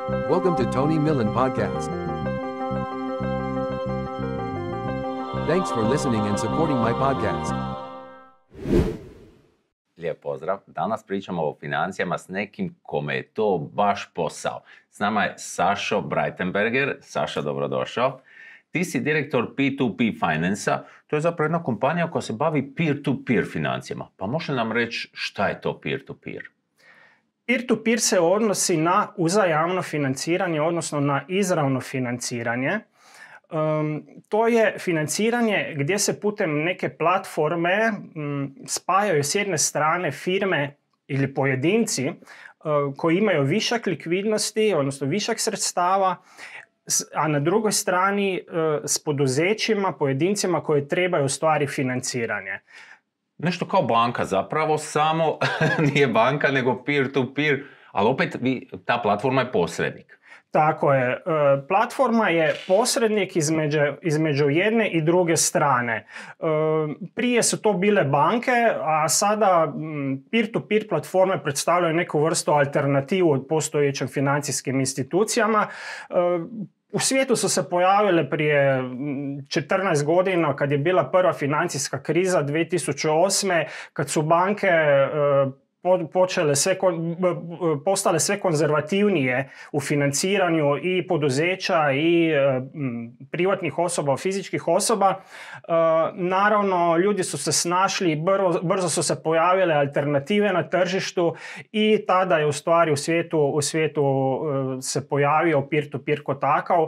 Welcome to Tony Millen Podcast. Thanks for listening and supporting my podcast. Lijep pozdrav. Danas pričamo o financijama s nekim kome je to baš posao. S nama je Sašo Breitenberger. Saša, dobrodošao. Ti si direktor P2P Finance-a. To je zapravo jedna kompanija koja se bavi peer-to-peer financijama. Pa može nam reći šta je to peer-to-peer? Peer-to-peer se odnosi na uzajamno financiranje, odnosno na izravno financiranje. To je financiranje gdje se putem neke platforme spajaju s jedne strane firme ili pojedinci koji imaju višak likvidnosti, odnosno višak sredstava, a na drugoj strani s poduzećima, pojedincima koji trebaju ostvariti financiranje. Nešto kao banka zapravo, samo nije banka nego peer-to-peer, ali opet ta platforma je posrednik. Tako je. Platforma je posrednik između jedne i druge strane. Prije su to bile banke, a sada peer-to-peer platforme predstavljaju neku vrstu alternativu od postojećim financijskim institucijama. U svijetu su se pojavile prije 14 godina kad je bila prva financijska kriza 2008. kad su banke postale sve konzervativnije u financiranju i poduzeća i privatnih osoba, fizičkih osoba. Naravno, ljudi su se snašli, brzo su se pojavile alternative na tržištu i tada je u stvari u svijetu se pojavio peer-to-peer kao takav.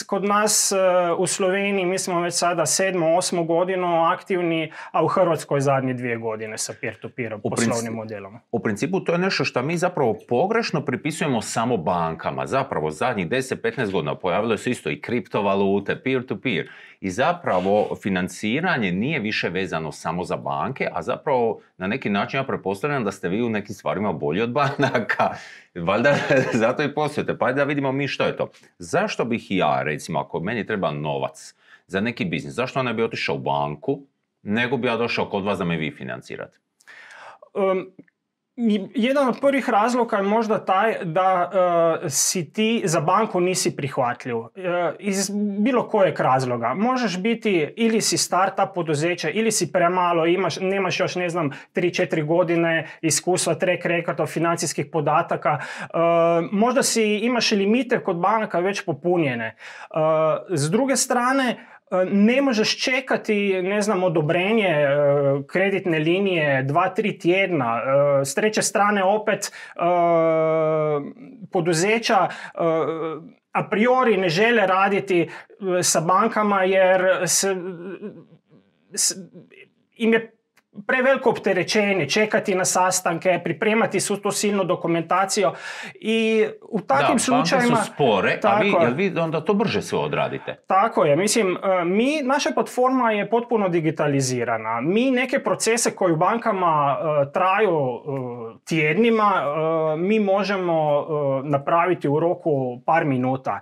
Kod nas u Sloveniji mi smo već sada 7-8 godinu aktivni, a u Hrvatskoj zadnje 2 godine sa peer-to-peer poslovnim modelom. U principu to je nešto što mi zapravo pogrešno pripisujemo samo bankama. Zapravo zadnjih 10-15 godina pojavilo se isto i kriptovalute, peer-to-peer. I zapravo financiranje nije više vezano samo za banke, a zapravo na neki način ja pretpostavljam da ste vi u nekim stvarima bolji od banaka. Valjda zato i poslujete. Pa da vidimo mi što je to. Zašto bih ja, recimo, ako meni treba novac za neki biznis, zašto ne bi otišao u banku, nego bi ja došao kod vas da me vi financirate? Jedan od prvih razloga je možda taj da si ti za banku nisi prihvatljiv. Iz bilo kojeg razloga. Možeš biti ili si startup poduzeća ili si premalo, nemaš još 3-4 godine iskustva, track record financijskih podataka. Možda imaš limite kod banaka već popunjene. S druge strane, ne možeš čekati, odobrenje kreditne linije 2-3 tjedna. S treće strane opet poduzeća a priori ne žele raditi sa bankama jer im je preveliko opterećenje, čekati na sastanke, pripremati svu tu silnu dokumentaciju i u takvim slučajevima... banke su spore, a vi onda to brže sve odradite. Tako je, naša platforma je potpuno digitalizirana. Mi neke procese koji u bankama traju tjednima, mi možemo napraviti u roku par minuta.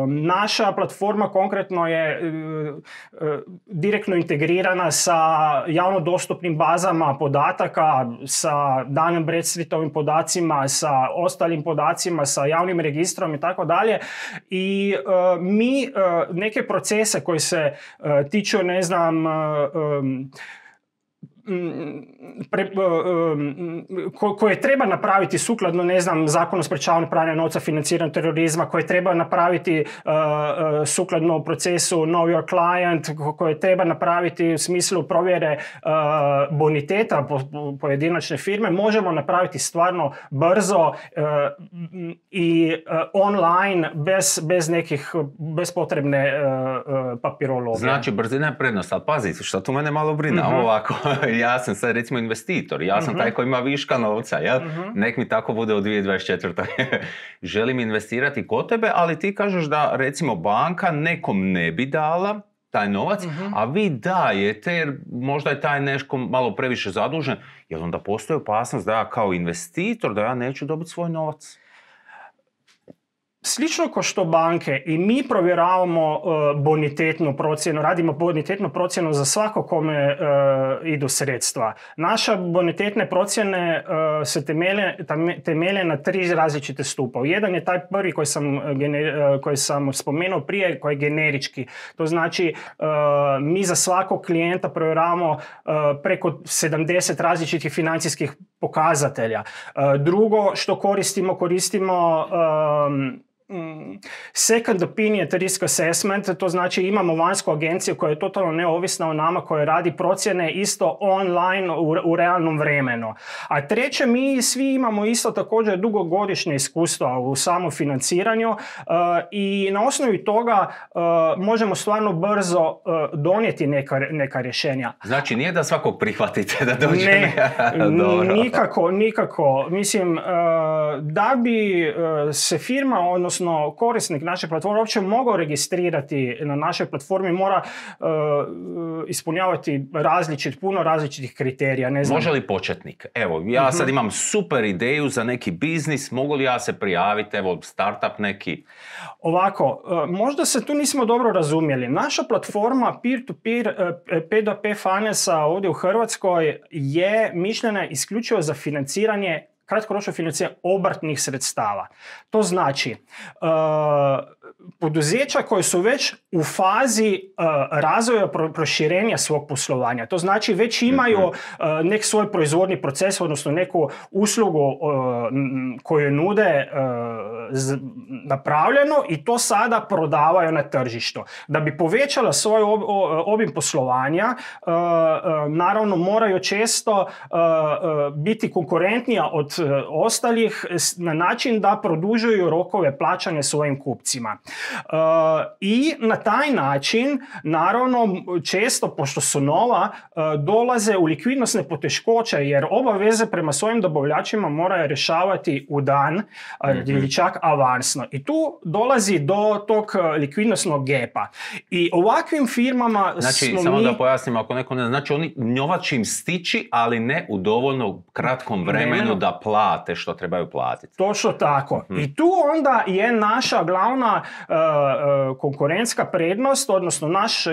Naša platforma konkretno je direktno integrirana sa javno dostupnim bazama podataka, sa Dun & Bradstreetovim podacima, sa ostalim podacima, sa javnim registrom i tako dalje. I mi neke procese koji se tiču, koje treba napraviti sukladno, Zakonu o sprečavanju pranja novca, financiranju terorizma, koje treba napraviti sukladno procesu Know Your Client, koje treba napraviti u smislu provjere boniteta pojedinačne firme, možemo napraviti stvarno brzo i online bez potrebne papirologije. Znači, brzina je prednost, ali pazi, što tu mene malo brine, ovako. Ja sam sad recimo investitor, ja sam taj koji ima viška novca, jel? Nek mi tako bude u 2024. Želim investirati kod tebe, ali ti kažeš da recimo banka nekom ne bi dala taj novac, a vi dajete jer možda je taj nešto malo previše zadužen, jer onda postoji opasnost da ja kao investitor, da ja neću dobiti svoj novac? slično kao što banke i mi provjeravamo bonitetnu procjenu, radimo bonitetnu procjenu za svako kome idu sredstva. Naša bonitetne procjene se temelje na 3 različite stupa. Jedan je taj prvi koji sam spomenuo prije, koji je generički. To znači mi za svakog klijenta provjeravamo preko 70 različitih financijskih pokazatelja. Drugo što koristimo second opinion risk assessment, to znači imamo vanjsku agenciju koja je totalno neovisna o nama, koja radi procjene isto online u realnom vremenu. A treće, mi svi imamo isto također dugogodišnje iskustva u samofinanciranju i na osnovi toga možemo stvarno brzo donijeti neka rješenja. Znači nije da svakog prihvatite da dođe? Ne, nikako. Mislim, da bi se firma, odnosno korisnik naše platforme uopće mogao registrirati na našoj platformi, mora ispunjavati puno različitih kriterija. Ne znam. Može li početnik? Evo, ja sad imam super ideju za neki biznis, mogu li ja se prijaviti, evo, startup neki? Ovako, možda se tu nismo dobro razumjeli. Naša platforma peer-to-peer P2P finance ovdje u Hrvatskoj je mišljena isključivo za financiranje, kratkoročno financiranje obrtnih sredstava. To znači poduzeća koje su već u fazi razvoja proširenja svog poslovanja. To znači već imaju nek svoj proizvodni proces, odnosno neku uslugu koju nude napravljeno i to sada prodavaju na tržištu. Da bi povećala svoj obim poslovanja, naravno moraju često biti konkurentnija od ostalih na način da produžuju rokove plaćanja svojim kupcima. I na taj način, naravno, često, pošto su nova, dolaze u likvidnosne poteškoće jer obaveze prema svojim dobavljačima moraju rješavati u dan ili čak avansno. I tu dolazi do tog likvidnosnog gepa. I ovakvim firmama znači, samo da pojasnim, ako neko ne znači, oni novac im stići, ali ne u dovoljno kratkom vremenu da plate što trebaju platiti. Točno tako. I tu onda je naša glavna konkurentska prednost, odnosno naš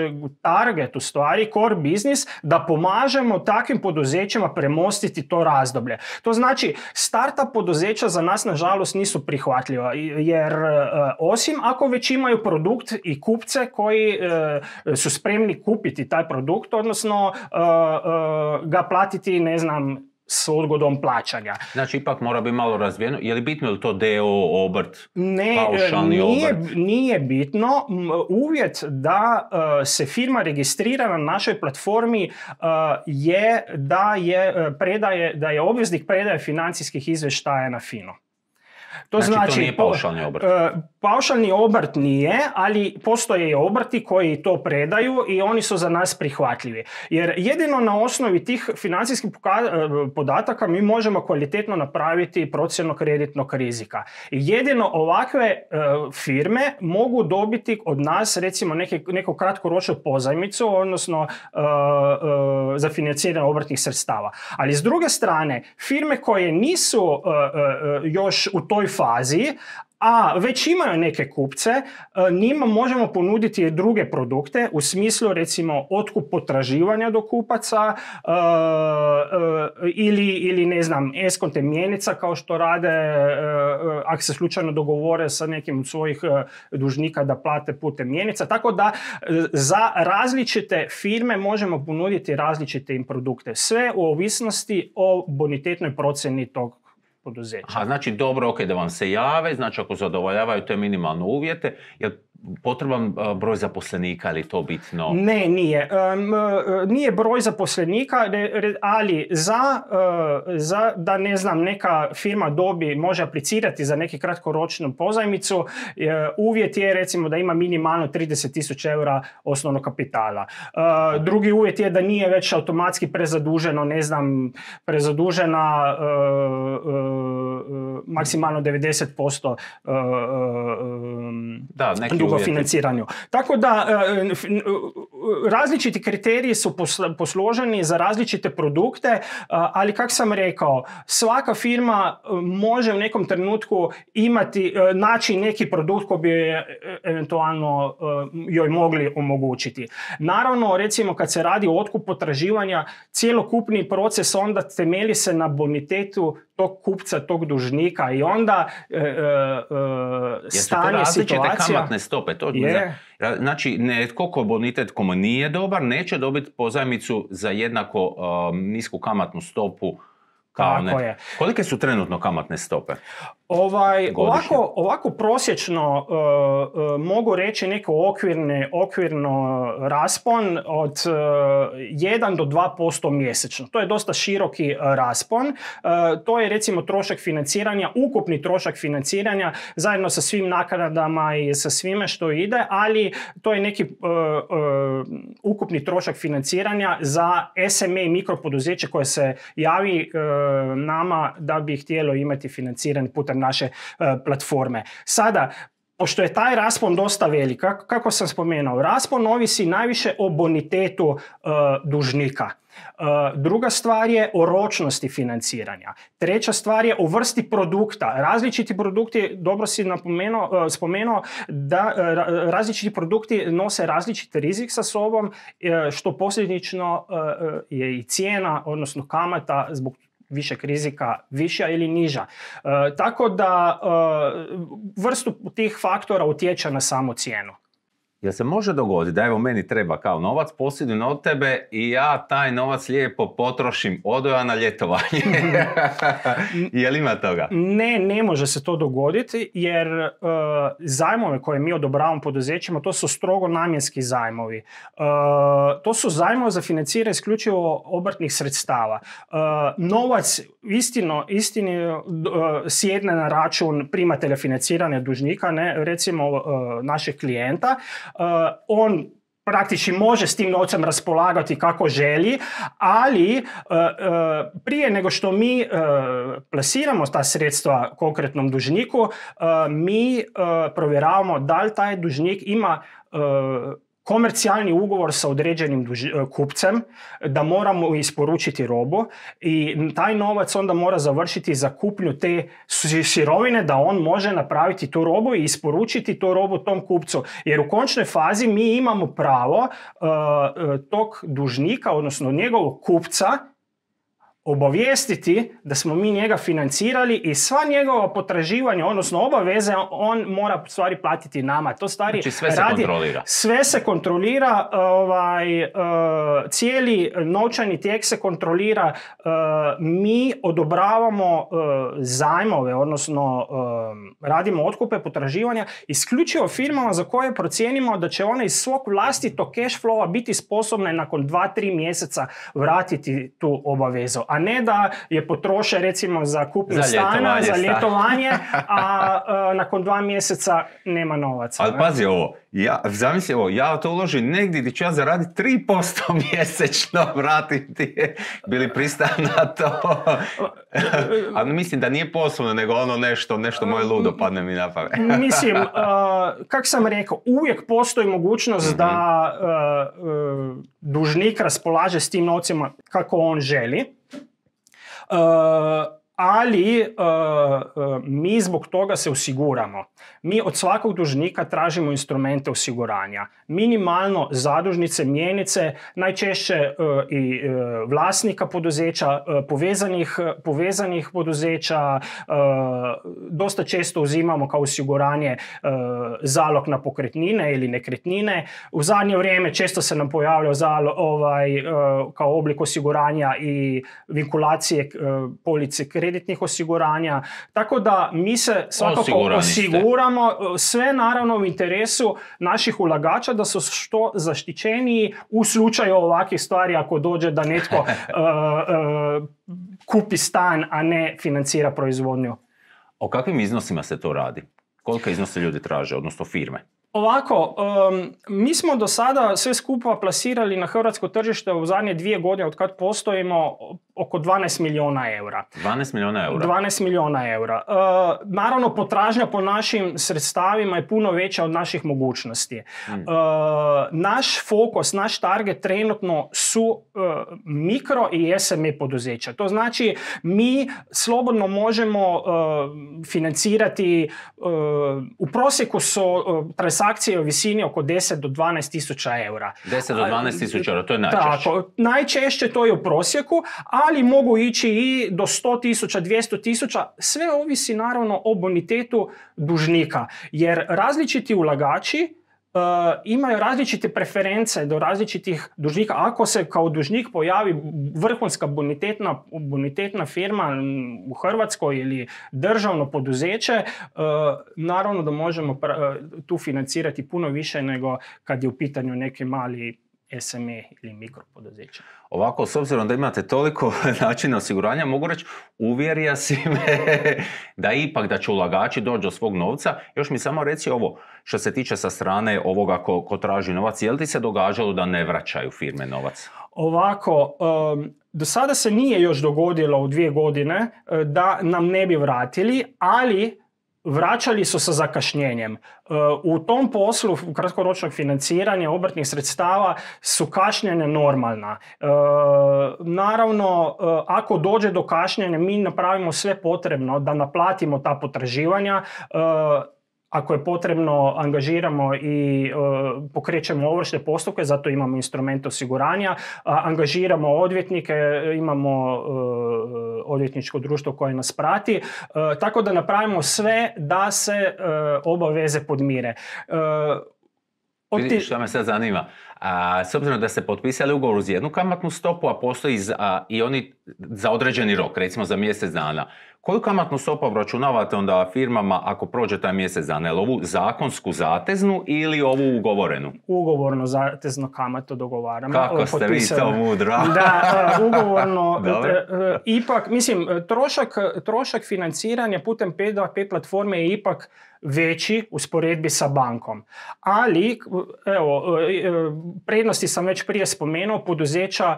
target, u stvari core business, da pomažemo takvim poduzećima premostiti to razdoblje. To znači, startup poduzeća za nas nažalost nisu prihvatljiva, jer osim ako već imaju produkt i kupce koji su spremni kupiti taj produkt, odnosno ga platiti, ne znam, s odgodom plaćanja. Znači, ipak mora biti malo razvijeno. Je li bitno ili to DO, obrt, paušalni obrt? Nije bitno. Uvjet da se firma registrira na našoj platformi je da je obveznik predaje financijskih izvještaja na FINO. Znači, to nije paušalni obrt? Paušalni obrt nije, ali postoje obrti koji to predaju i oni su za nas prihvatljivi. Jer jedino na osnovi tih financijskih podataka mi možemo kvalitetno napraviti procjenu kreditnog rizika. Jedino ovakve firme mogu dobiti od nas, recimo, neku kratkoročnu pozajmicu, odnosno za financiranje obrtnih sredstava. Ali s druge strane, firme koje nisu još u toj fazi, a već imaju neke kupce, njima možemo ponuditi druge produkte u smislu, recimo, otkup potraživanja do kupaca ili ne znam, eskonte mjenica, kao što rade ako se slučajno dogovore sa nekim od svojih dužnika da plate putem mjenica. Tako da za različite firme možemo ponuditi različite im produkte. Sve u ovisnosti o bonitetnoj procjeni tog poduzeća. Aha, znači dobro, ok, da vam se jave, znači ako zadovoljavaju te minimalne uvjete, je potreban broj zaposlenika, ili to bitno? Ne, nije. Nije broj zaposlenika, ali za da, ne znam, neka firma može aplicirati za neki kratkoročnu pozajmicu, uvjet je, recimo, da ima minimalno 30.000 eura osnovnog kapitala. Drugi uvjet je da nije već automatski prezaduženo, ne znam, prezadužena maksimalno 90% dugo financiranju. Tako da različiti kriteriji su posloženi za različite produkte, ali kako sam rekao, svaka firma može u nekom trenutku naći neki produkt koji bi eventualno joj mogli omogućiti. Naravno, recimo kad se radi o otkupu potraživanja, cjelokupni proces onda temelji se na bonitetu tog kupca, tog dužnika i onda stanje, situacija... kamatne stope? Znači, netko ko bonitet komu nije dobar, neće dobiti pozajmicu za jednako nisku kamatnu stopu kao ne. Kolike su trenutno kamatne stope? Ovako prosječno mogu reći neko okvirno raspon od 1 do 2% mjesečno. To je dosta široki raspon. To je recimo trošak financiranja, ukupni trošak financiranja zajedno sa svim naknadama i sa svime što ide, ali to je neki ukupni trošak financiranja za SME i mikropoduzeće koje se javi nama da bi htjelo imati financiranje putem naše platforme. Sada, pošto je taj raspon dosta velik, kako sam spomenuo, raspon ovisi najviše o bonitetu dužnika. Druga stvar je o ročnosti financiranja. Treća stvar je o vrsti produkta. Različiti produkti, dobro si spomenuo, da različiti produkti nose različiti rizik sa sobom, što posljedično je i cijena, odnosno kamata zbog višeg rizika viša ili niža. Tako da vrstu tih faktora utječe na samu cijenu. Jel se može dogoditi da evo meni treba kao novac, posjedujem od tebe i ja taj novac lijepo potrošim, odo ja na ljetovanje? Jel ima toga? Ne može se to dogoditi jer zajmove koje mi odobravamo poduzećima, to su strogo namjenski zajmovi. To su zajmovi za financiranje isključivo obrtnih sredstava. Novac istini sjedne na račun primatelja financiranja dužnika, recimo našeg klijenta. On praktički može s tim novcem raspolagati kako želi, ali prije nego što mi plasiramo ta sredstva konkretnom dužniku, mi provjeravamo da li taj dužnik ima komercijalni ugovor sa određenim kupcem, da moramo isporučiti robu i taj novac onda mora završiti za kupnju te sirovine da on može napraviti tu robu i isporučiti tu robu tom kupcu. Jer u končnoj fazi mi imamo pravo tog dužnika, odnosno njegovog kupca, obavijestiti da smo mi njega financirali i sva njegova potraživanja, odnosno obaveze, on mora stvari platiti nama. To stvari znači sve se kontrolira. Sve se kontrolira, cijeli novčani tijek se kontrolira. Mi odobravamo zajmove, odnosno radimo otkupe potraživanja isključivo firmama za koje procijenimo da će one iz svog vlastitog cash flowa biti sposobne nakon 2-3 mjeseca vratiti tu obavezu. A ne da je potroše recimo za kupnju stana, za ljetovanje, a nakon 2 mjeseca nema novaca. Ali pazi ovo, zamisli ovo, ja to uložim negdje gdje ću ja zaraditi 3% mjesečno, vratim ti, bili pristan na to. Ali mislim da nije poslovno, nego ono nešto moje ludo padne mi na pamet. Mislim, kako sam rekao, uvijek postoji mogućnost da dužnik raspolaže s tim novcima kako on želi. Ali mi zbog toga se osiguramo. Mi od svakog dužnika tražimo instrumente osiguranja. Minimalno zadužnice, mjenice, najčešće i vlasnika poduzeća, povezanih poduzeća. Dosta često uzimamo kao osiguranje zalog na pokretnine ili nekretnine. U zadnje vrijeme često se nam pojavljao kao oblik osiguranja i vinkulacije police kreditnih osiguranja. Tako da mi se svakako osiguramo, sve naravno u interesu naših ulagača da su što zaštićeniji u slučaju ovakvih stvari ako dođe da netko kupi stan, a ne financira proizvodnju. O kakvim iznosima se to radi? Koliko iznose ljudi traže, odnosno firme? Ovako, mi smo do sada sve skupa plasirali na hrvatsko tržište u zadnje 2 godine od kad postojimo oko 12 milijuna eura. 12 milijuna eura? 12 milijuna eura. Naravno, potražnja po našim sredstavima je puno veća od naših mogućnosti. Naš fokus, naš target trenutno su mikro i SME poduzeća. To znači, mi slobodno možemo financirati, u prosjeku su transakcije u visini oko 10 do 12 tisuća eura. 10 do 12 tisuća eura, to je najčešće. Tako, najčešće to je u prosjeku, ali mogu ići i do 100 tisuća, 200 tisuća. Sve ovisi naravno o bonitetu dužnika, jer različiti ulagači imaju različite preference do različitih dužnika. Ako se kao dužnik pojavi vrhunska bonitetna firma u Hrvatskoj ili državno poduzeće, naravno da možemo tu financirati puno više nego kad je u pitanju neki mali SME ili mikropoduzeće. Ovako, s obzirom da imate toliko načina osiguranja, mogu reći, uvjerio si me da ipak da će ulagači doći do svog novca. Još mi samo reci ovo, što se tiče sa strane ovoga ko traži novac, je li ti se događalo da ne vraćaju firme novac? Ovako, do sada se nije još dogodilo u 2 godine da nam ne bi vratili, ali vraćali su sa zakašnjenjem. U tom poslu kratkoročnog financiranja obrtnih sredstava su kašnjenja normalna. Naravno, ako dođe do kašnjenja, mi napravimo sve potrebno da naplatimo ta potraživanja. Ako je potrebno, angažiramo i pokrećemo ovršne postupke, zato imamo instrument osiguranja, angažiramo odvjetnike, imamo odvjetničko društvo koje nas prati, tako da napravimo sve da se obaveze podmire. Vidiš, što me sad zanima. S obzirom da ste potpisali ugovor uz jednu kamatnu stopu, a postoji i oni za određeni rok, recimo za mjesec dana. Koju kamatnu stopu obračunavate onda firmama ako prođe taj mjesec dana? Je li ovu zakonsku zateznu ili ovu ugovorenu? Ugovorno zatezno kamatu dogovaramo. Kako ste vi to mudro? Da, ugovorno. Ipak, mislim, trošak financiranja putem P2P platforme je ipak veći usporedbi sa bankom. Ali, evo, prednosti sam već prije spomenuo, poduzeća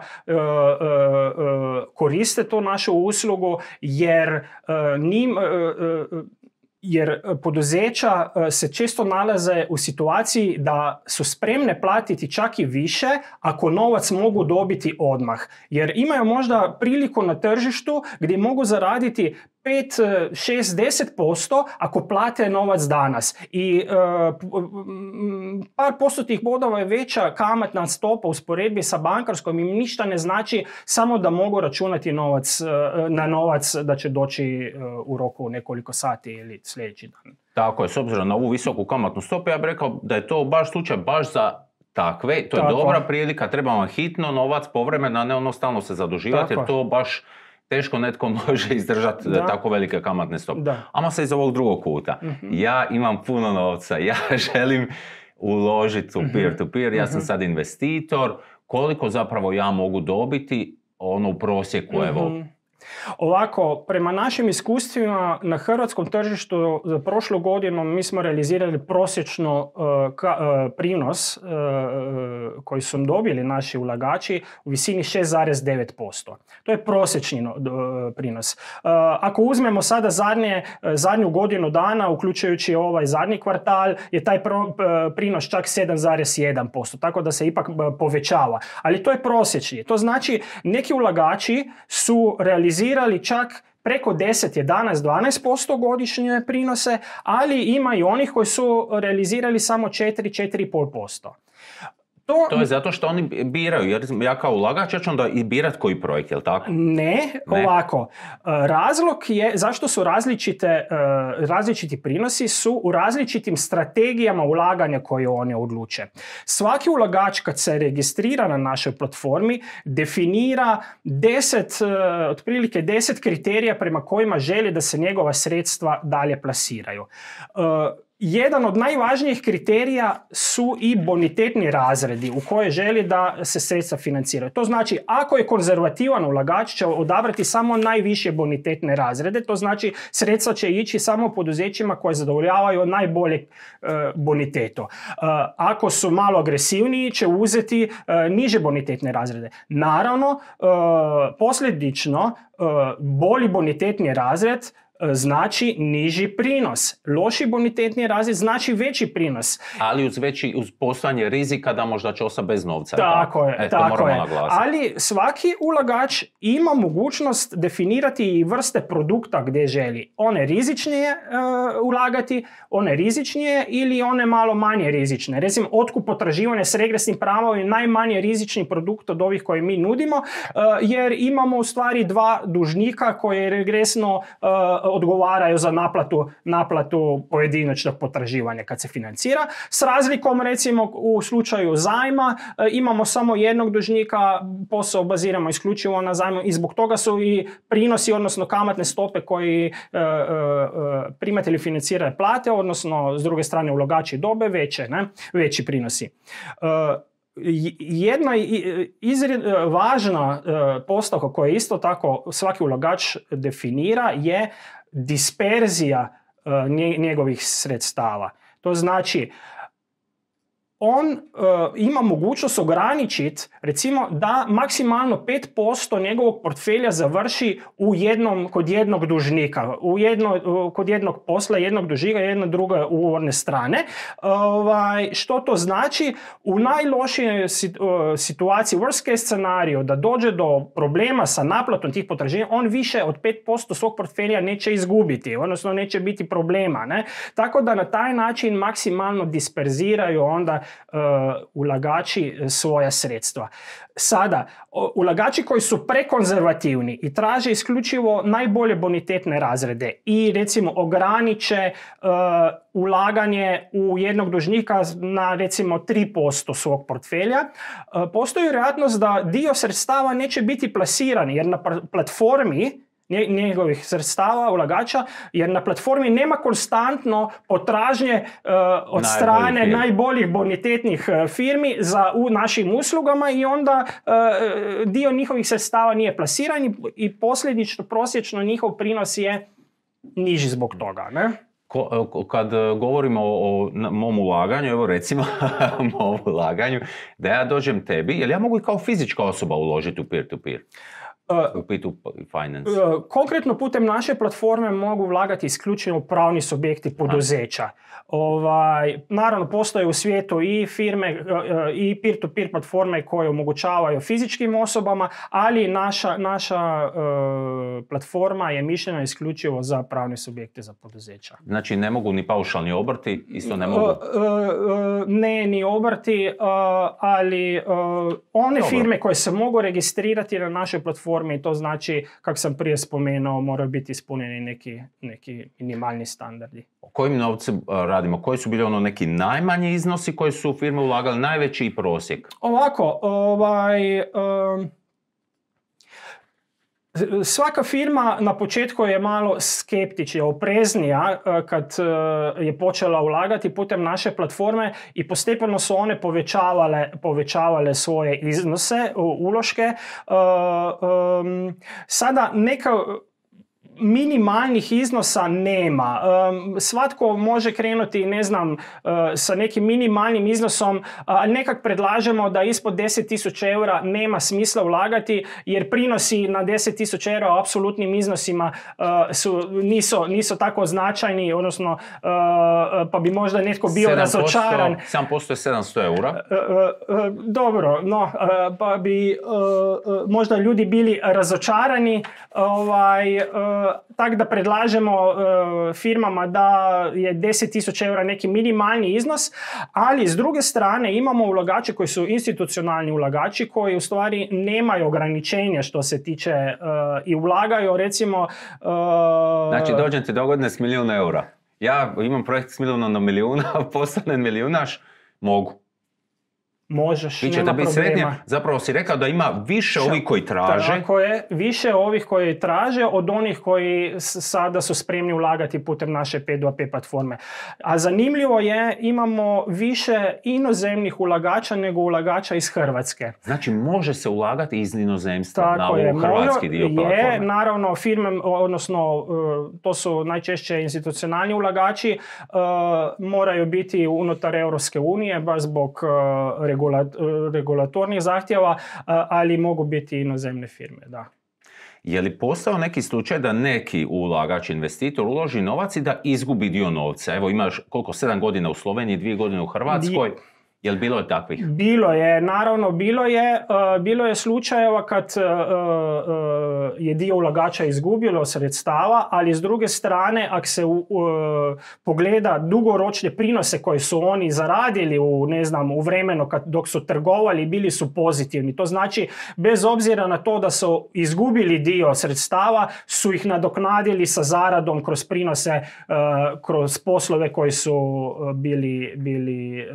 koriste tu našu uslugu jer poduzeća se često nalaze u situaciji da su spremne platiti čak i više ako novac mogu dobiti odmah. Jer imaju možda priliku na tržištu gdje mogu zaraditi 5, 6, 10% ako plate novac danas. I par postotnih bodova je veća kamatna stopa usporedbi sa bankarskom, im ništa ne znači, samo da mogu računati na novac da će doći u roku nekoliko sati ili sljedeći dan. Tako je, s obzirom na ovu visoku kamatnu stopu, ja bih rekao da je to baš slučaj baš za takve. To je dobra prilika, treba vam hitno novac povremeno, a ne ono stalno se zaduživati, jer to baš teško netko može izdržati tako velike kamatne stope. Ama se iz ovog drugog kuta. Ja imam puno novca, ja želim uložiti u peer-to-peer, ja sam sad investitor, koliko zapravo ja mogu dobiti u prosjeku, evo. Ovako, prema našim iskustvima na hrvatskom tržištu za prošlu godinu mi smo realizirali prosječno prinos koji su dobili naši ulagači u visini 6,9%. To je prosječni prinos. Ako uzmemo sada zadnju godinu dana, uključujući ovaj zadnji kvartal, je taj prinos čak 7,1%, tako da se ipak povećava. Ali to je prosječni. To znači neki ulagači su realizirali čak preko 10, 11, 12% godišnje prinose, ali ima i onih koji su realizirali samo 4,5%. To je zato što oni biraju, jer ja kao ulagač ja ću onda i birat koji projekt, je li tako? Ne, ovako. Razlog je zašto su različiti prinosi su u različitim strategijama ulaganja koje oni odluče. Svaki ulagač kad se registrira na našoj platformi definira otprilike 10 kriterija prema kojima želi da se njegova sredstva dalje plasiraju. jedan od najvažnijih kriterija su i bonitetni razredi u koje želi da se sredstva financiraju. To znači, ako je konzervativan ulagač, će odabrati samo najviše bonitetne razrede, to znači sredstva će ići samo poduzećima koje zadovoljavaju najbolje boniteto. Ako su malo agresivniji, će uzeti niže bonitetne razrede. Naravno, posljedično, bolji bonitetni razred znači niži prinos. Loši bonitetni razred znači veći prinos. Ali uz postojanje rizika da možda će ostati bez novca. Tako je, tako je. Naglasiti. Ali svaki ulagač ima mogućnost definirati i vrste produkta gdje želi. One rizičnije ulagati, one rizičnije ili one malo manje rizične. Recimo, otkup potraživanja s regresnim pravom je najmanje rizični produkt od ovih koje mi nudimo, jer imamo u stvari dva dužnika koje regresno odgovaraju za naplatu pojedinačnog potraživanja kad se financira. S razlikom, recimo, u slučaju zajma imamo samo jednog dužnika, posao baziramo isključivo na zajmu i zbog toga su i prinosi, odnosno kamatne stope koji primatelji financiranja plate, odnosno s druge strane ulagači dobe veći prinosi. Jedna važna postavka koju isto tako svaki ulagač definira je disperzija njegovih sredstava. To znači, on ima mogućnost ograničiti, recimo, da maksimalno 5% njegovog portfelja završi kod jednog dužnika, kod jednog posla, jednog dužnika, jedne druge ugovorne strane. Što to znači? U najlošijoj situaciji, worst case scenariju, da dođe do problema sa naplatom tih potraživanja, on više od 5% svog portfelja neće izgubiti, odnosno neće biti problema. Ne? Tako da na taj način maksimalno disperziraju onda ulagači svoja sredstva. Sada, ulagači koji su prekonzervativni i traže isključivo najbolje bonitetne razrede i recimo ograniče ulaganje u jednog dužnika na recimo 3% svog portfelja, postoji vjerojatnost da dio sredstava neće biti plasiran, jer na platformi njegovih sredstava ulagača, jer na platformi nema konstantno potražnje od strane najboljih bonitetnih firmi u našim uslugama i onda dio njihovih sredstava nije plasiran i posljedično prosječno njihov prinos je niži zbog toga. Ne? Kad govorimo o mom ulaganju, evo recimo mom ulaganju, da ja dođem tebi, jel ja mogu i kao fizička osoba uložiti u peer-to-peer? Finance. Konkretno putem naše platforme mogu ulagati isključivo pravni subjekti poduzeća. Naravno, postoje u svijetu i firme i peer-to-peer platforme koje omogućavaju fizičkim osobama, ali naša platforma je mišljena isključivo za pravne subjekte za poduzeća. Znači ne mogu ni paušalni obrti, isto ne mogu? Ne, ni obrti, ali one firme koje se mogu registrirati na našoj platformi, to znači, kako sam prije spomenuo, moraju biti ispunjeni neki minimalni standardi. O kojim novcem radimo? Koji su bili neki najmanji iznosi koji su firme ulagali, najveći i prosjek? Ovako, svaka firma na početku je malo skeptična, opreznija kad je počela ulagati putem naše platforme i postepeno su one povećavale svoje iznose, uloške. Sada neka minimalnih iznosa nema. Svatko može krenuti, sa nekim minimalnim iznosom, ali nekak predlažemo da ispod 10.000 eura nema smisla ulagati, jer prinosi na 10.000 eura u apsolutnim iznosima nisu tako značajni, odnosno pa bi možda netko bio razočaran. 7% je 700 eura. Dobro, pa bi možda ljudi bili razočarani, tako da predlažemo firmama da je 10.000 eura neki minimalni iznos, ali s druge strane imamo ulagače koji su institucionalni ulagači koji u stvari nemaju ograničenja što se tiče i ulagaju recimo... Znači dođem ti dogodine s 1.000.000 eura. Ja imam projekt s 1.000.000 na 1.000.000, postanem milijunaš, mogu. možeš, Vi ćete nema biti problema. sretni, zapravo si rekao da ima više ovih koji traže. Tako je, više ovih koji traže od onih koji sada su spremni ulagati putem naše P2P platforme. A zanimljivo je, imamo više inozemnih ulagača nego ulagača iz Hrvatske. Znači može se ulagati iz inozemstva na Tako je, ovo hrvatski dio platforme. naravno firme, odnosno to su najčešće institucionalni ulagači, moraju biti unutar Europske unije, baš zbog regulatornih zahtjeva, ali mogu biti inozemne firme, da. Je li postao neki slučaj da neki ulagač, investitor uloži novac i da izgubi dio novca? Evo imaš koliko, 7 godina u Sloveniji, 2 godine u Hrvatskoj. Jel bilo je takvih? Bilo je, naravno bilo je slučajeva kad je dio ulagača izgubilo sredstava, ali s druge strane, ako se pogleda dugoročne prinose koje su oni zaradili u vremenu dok su trgovali, bili su pozitivni. To znači, bez obzira na to da su izgubili dio sredstava, su ih nadoknadili sa zaradom kroz prinose, kroz poslove koji su bili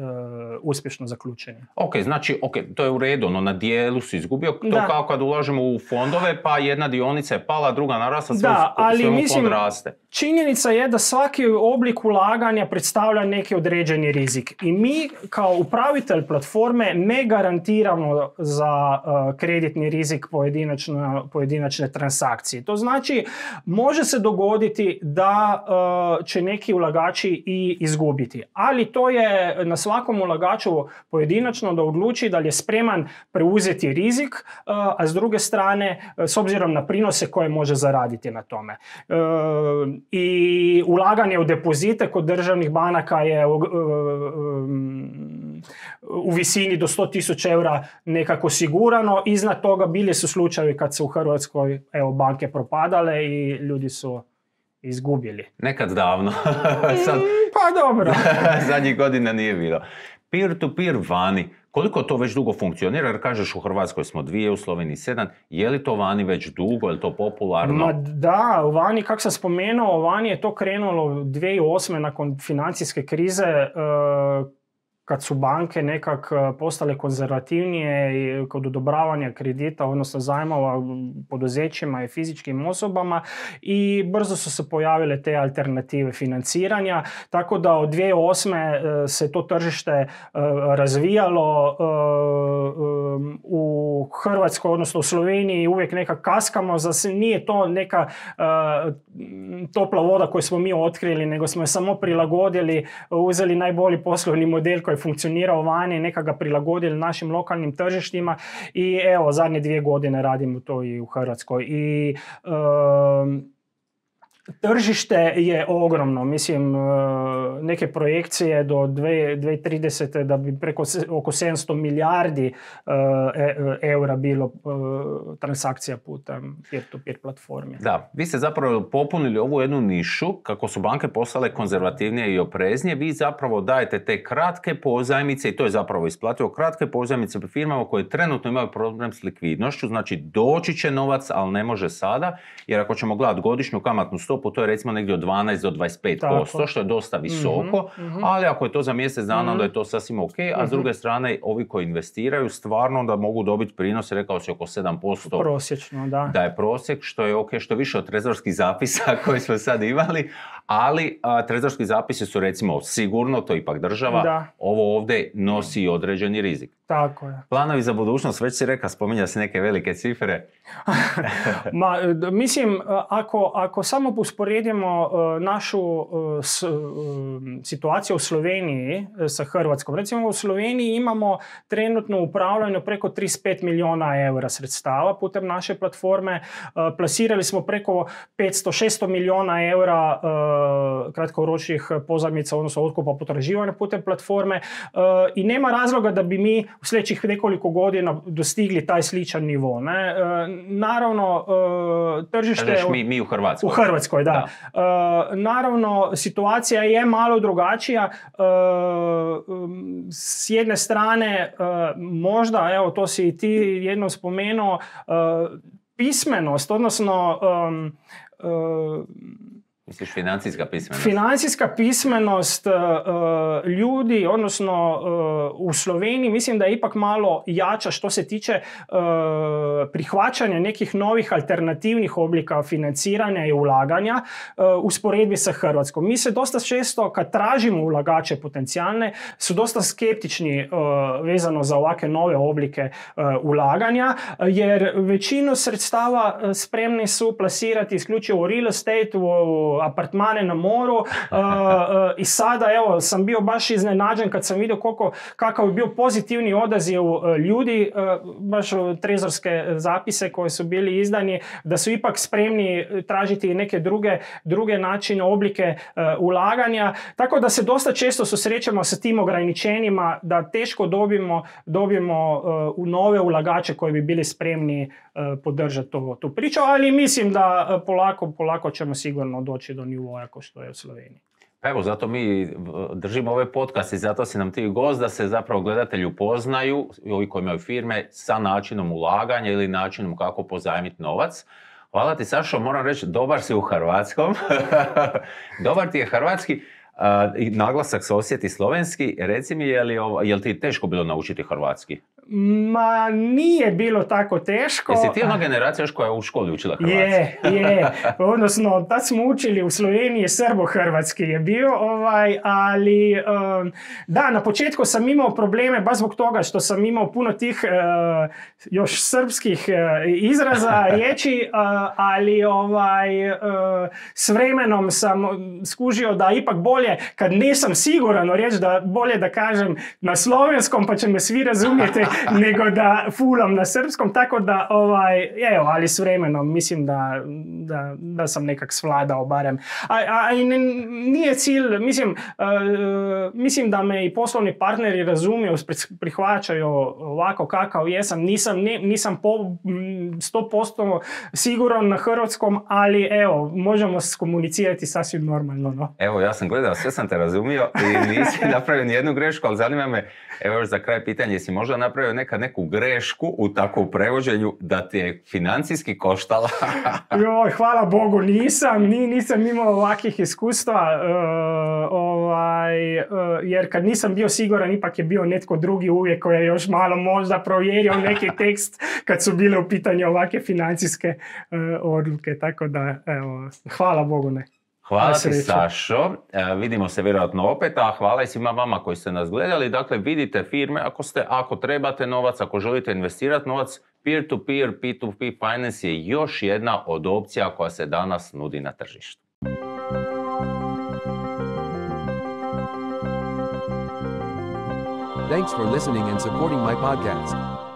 uspješno zaključeni. Ok, znači, to je u redu, no na dijelu si izgubio, to kao kad ulažemo u fondove, pa jedna dionica je pala, druga narasla, svemu fond raste. Činjenica je da svaki oblik ulaganja predstavlja neki određeni rizik. I mi kao upravitelj platforme ne garantiramo za kreditni rizik pojedinačne transakcije. To znači, može se dogoditi da će neki ulagači i izgubiti. Ali to je na svakom ulagaču pojedinačno da odluči da li je spreman preuzeti rizik, a s druge strane, s obzirom na prinose koje može zaraditi na tome. I ulaganje u depozite kod državnih banaka je u visini do 100.000 eura nekako sigurano. Iznad toga bili su slučajevi kad se u Hrvatskoj banke propadale i ljudi su izgubili. Nekad davno. Sad, pa dobro. Zadnjih godina nije bilo. Peer-to-peer vani, koliko to već dugo funkcionira? Jer kažeš u Hrvatskoj smo 2, u Sloveniji 7. Je li to vani već dugo? Je li to popularno? Da, vani, kako sam spomenuo, vani je to krenulo 2008. nakon financijske krize, kad su banke nekak postale konzervativnije kod odobravanja kredita, odnosno zajmova poduzećima i fizičkim osobama, i brzo su se pojavile te alternative financiranja, tako da od 2008. se to tržište razvijalo. U Hrvatskoj, odnosno u Sloveniji uvijek nekak kaskamo, nije to neka topla voda koju smo mi otkrili, nego smo je samo prilagodili, uzeli najbolji poslovni model koji funkcionirao vani, neka ga prilagodili našim lokalnim tržištima i evo, zadnje 2 godine radimo to i u Hrvatskoj. I tržište je ogromno, mislim, neke projekcije do 2030. da bi oko 700 milijardi eura bilo transakcija putem peer-to-peer platformi. Da, vi ste zapravo popunili ovu jednu nišu, kako su banke postale konzervativnije i opreznije, vi zapravo dajete te kratke pozajmice, i to je zapravo isplativo, kratke pozajmice firmama koje trenutno imaju problem s likvidnošću, znači doći će novac, ali ne može sada, jer ako ćemo gledati godišnju kamatnu stopu, to je recimo negdje od 12 do 25%, što je dosta visoko, ali ako je to za mjesec dana, onda je to sasvim ok, a s druge strane, ovi koji investiraju stvarno da mogu dobiti prinos, rekao si oko 7%. Prosječno, da. Da je prosjek, što je ok, što je više od trezorskih zapisa koji smo sad imali, ali trezorski zapisi su recimo sigurno, to ipak država, da. Ovo ovdje nosi određeni rizik. Tako je. Planovi za budućnost, već si rekao, spominja se neke velike cifre. Mislim, ako samo usporedimo našu situaciju u Sloveniji sa Hrvatskom. Recimo u Sloveniji imamo trenutno upravljanje preko 35 milijuna eura sredstava putem naše platforme. Plasirali smo preko 500-600 milijuna eura kratkoročnih pozajmica, odnosno otkupa potraživanja putem platforme, i nema razloga da bi mi u sljedećih nekoliko godina dostigli taj sličan nivo. Ne? Naravno, tržište... Mi u Hrvatskoj. U Hrvatskoj, da. Naravno, situacija je malo drugačija. S jedne strane, možda, evo, to si i ti jednom spomenuo, pismenost, odnosno Misliš financijska pismenost? Financijska pismenost ljudi, odnosno u Sloveniji, mislim da je ipak malo jača što se tiče prihvaćanja nekih novih alternativnih oblika financiranja i ulaganja usporedbi sa Hrvatskom. Mi se dosta često, kad tražimo ulagače potencijalne, su dosta skeptični vezano za ovakve nove oblike ulaganja, jer većinu sredstava spremni su plasirati isključivo u real estate, u apartmane na moru i sada evo sam bio baš iznenađen kad sam vidio kakav je bio pozitivni odaziv ljudi, baš trezorske zapise koji su bili izdani, da su ipak spremni tražiti neke druge načine, oblike ulaganja, tako da se dosta često susrećemo sa tim ograničenjima da teško dobijemo u nove ulagače koji bi bili spremni podržati tu priču, ali mislim da polako ćemo sigurno doći do nivoja kao što je u Sloveniji. Pa evo, zato mi držimo ove podcaste i zato si nam ti gost da se zapravo gledatelji upoznaju, ovi koji imaju firme, sa načinom ulaganja ili načinom kako pozajmiti novac. Hvala ti, Sašo, moram reći, dobar si u hrvatskom. Dobar ti je hrvatski. Naglasak se osjeti slovenski. Reci mi, je li ti teško bilo naučiti hrvatski? Ma nije bilo tako teško. Jesi ti ona generacija još koja je u školi učila hrvatski? Je. Odnosno, tad smo učili u Sloveniji srbo-hrvatski je bio, ali da, na početku sam imao probleme baš zbog toga što sam imao puno tih još srpskih izraza, riječi, ali s vremenom sam skužio da ipak bolje, kad nisam siguran o riječ, da bolje da kažem na slovenskom pa će me svi razumjeti, nego da fulam na srpskom, tako da, ali s vremenom mislim da sam nekak svladao barem. Nije cilj, mislim da me i poslovni partneri razumiju, prihvaćaju ovako kakav jesam, nisam 100% siguran na hrvatskom, ali evo, možemo komunicirati sasvim normalno. No? Evo, ja sam gledao, sve sam te razumio i nisi napravio nijednu grešku, ali zanima me, evo još za kraj pitanje, jesi možda napravio neku grešku u takvom prevođenju da ti je financijski koštala? Joj, hvala Bogu, nisam imao ovakvih iskustva, jer kad nisam bio siguran, ipak je bio netko drugi uvijek koji je još malo možda provjerio neki tekst kad su bile u pitanju ovakve financijske odluke, tako da, evo, hvala Bogu ne. Hvala ti, Sašo. Vidimo se vjerojatno opet, a hvala i svima vama koji ste nas gledali. Dakle, vidite firme, ako trebate novac, ako želite investirati novac, peer-to-peer, P2P finance je još jedna od opcija koja se danas nudi na tržištu. Thanks for listening and supporting my podcast.